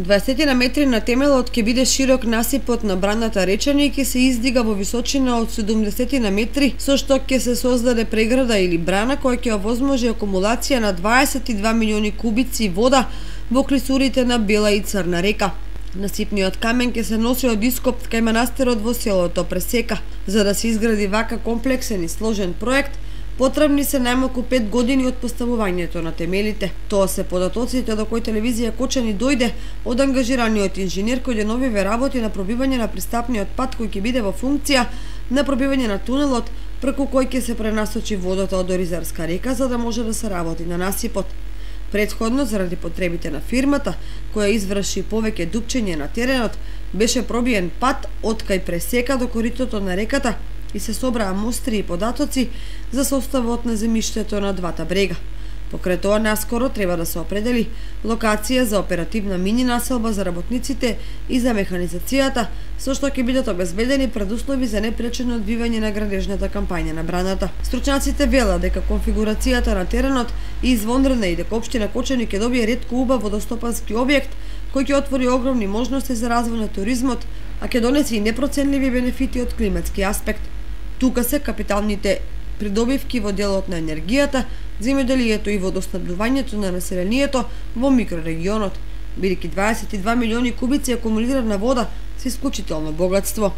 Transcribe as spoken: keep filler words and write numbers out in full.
дваесет на метри на темелот ќе биде широк насипот на браната Речани и ќе се издига во височина од седумдесет на метри, со што ќе се создаде преграда или брана која ќе овозможи акумулација на дваесет и два милиони кубици вода во клисурите на Бела и Црна река. Насипниот камен ќе се носи од Ископ кај манастирот во селото Пресека. За да се изгради вака комплексен и сложен проект, потребни се најмалку пет години од поставувањето на темелите. Тоа се податоците до кои телевизија Кочани дојде од ангажираниот инженер кој деновиве работи на пробивање на пристапниот пат кој ќе биде во функција на пробивање на тунелот преку кој ќе се пренасочи водата од Оризарска река за да може да се работи на насипот. Претходно, заради потребите на фирмата, која изврши повеќе дупчење на теренот, беше пробиен пат од кај Пресека до коритото на реката и се собраа мостри и податоци за составот на земјиштето на двата брега. Покрај тоа, наскоро треба да се определи локација за оперативна мини населба за работниците и за механизацијата, со што ќе бидат обезбедени предуслови за непречено одвивање на градежната кампања на браната. Стручњаците велат дека конфигурацијата на теренот е извонредна и дека општина Кочани ќе добие ретко убав водостопански објект кој ќе отвори огромни можности за развој на туризмот, а ќе донесе и непроценливи бенефити од климатски аспект. Тука се капиталните придобивки во делот на енергијата, земјоделието и водоснабдувањето на населението во микрорегионот, бидејќи дваесет и два милиони кубици акумулирана вода се исклучително богатство.